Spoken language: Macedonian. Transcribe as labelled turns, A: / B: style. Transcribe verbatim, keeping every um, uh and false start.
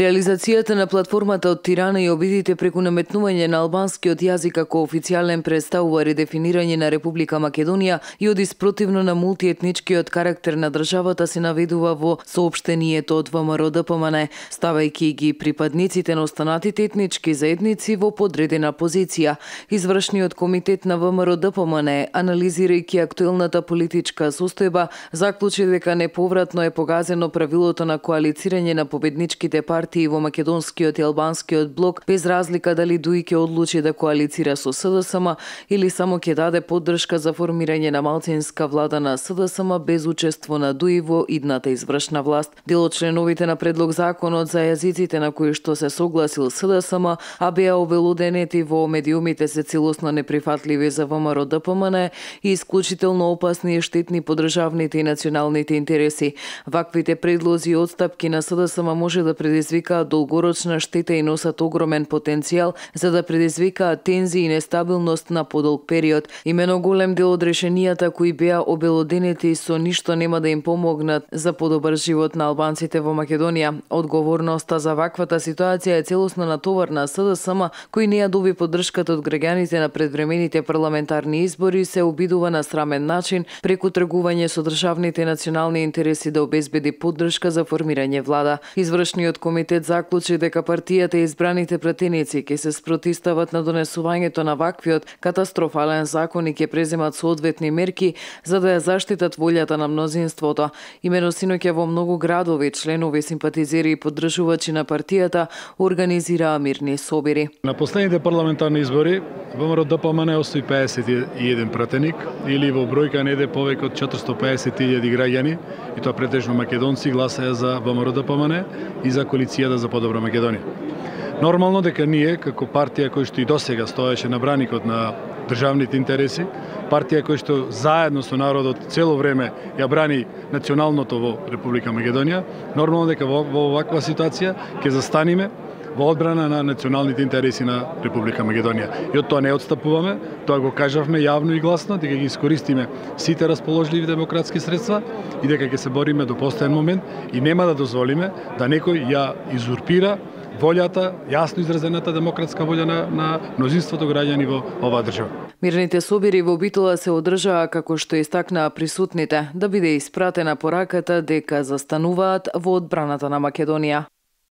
A: Реализацијата на платформата од Тирана и обидите преку наметнување на албанскиот јазик како официјален представува редефинирање на Република Македонија и од испротивно на мултиетничкиот карактер на државата се наведува во соопштението од ВМРО-ДПМН, ставајќи ги припадниците на останатите етнички заедници во подредена позиција. Извршниот комитет на ВМРО-ДПМН, анализирајќи актуелната политичка состојба, заклучи дека неповратно е погазено правилото на коалицирање на победничките партии партии во македонскиот и албанскиот блок, без разлика дали ДУИ ќе одлучи да коалицира со СДСМ или само ќе даде поддршка за формирање на малцинска влада на СДСМ без учество на ДУИ во идната извршна власт. Дел од членовите на предлог законот за јазиците на кои што се согласил СДСМ, а беа обелоденети во медиумите се целосно неприфатливи за ВМРО-ДПМН и исклучително опасни и штетни по државните и националните интереси. Ваквите предлози и отстапки на СДСМ може да предизвикаат долгорочна штета и носат огромен потенцијал за да предизвикаат тензии и нестабилност на подолг период. Имено голем дел од решенијата кои беа обелоденети со ништо нема да им помогнат за подобар живот на албанците во Македонија. Одговорноста за ваквата ситуација е целосно на товар на СДСМ, кој не ја доби поддршката од граѓаните на предвремените парламентарни избори, се обидува на срамен начин преку тргување со државните национални интереси да обезбеди поддршка за формирање влада. Извршниот комитет заклучи дека партијата и избраните пратеници ќе се спротивстават на донесувањето на ваквиот катастрофален закон и ќе преземат соодветни мерки за да ја заштитат волјата на мнозинството. Имено синоќа во многу градови членови, симпатизери и поддржувачи на партијата организираа мирни собири.
B: На последните парламентарни избори ВМРО-ДПМН остави пеесет и еден пратеник или во бројка неде повеќе од четиристо и пеесет илјади граѓани, и тоа претежно македонци, гласаја за ВМРО-ДПМН и за коалицијата за подобра Македонија. Нормално дека ние, како партија која што и досега стоеше на браникот на државните интереси, партија која што заедно со народот цело време ја брани националното во Република Македонија, нормално дека во, во оваква ситуација ќе застаниме во одбрана на националните интереси на Република Македонија. И од тоа не отстапуваме, тоа го кажавме јавно и гласно, дека ги искористиме сите расположливи демократски средства и дека ќе се бориме до последен момент и нема да дозволиме да некој ја изурпира волјата, јасно изразената демократска волја на, на мнозинството граѓани во оваа држава.
A: Мирните собири во Битола се одржаа како што истакнаа присутните, да биде испратена пораката дека застануваат во одбраната на Македонија.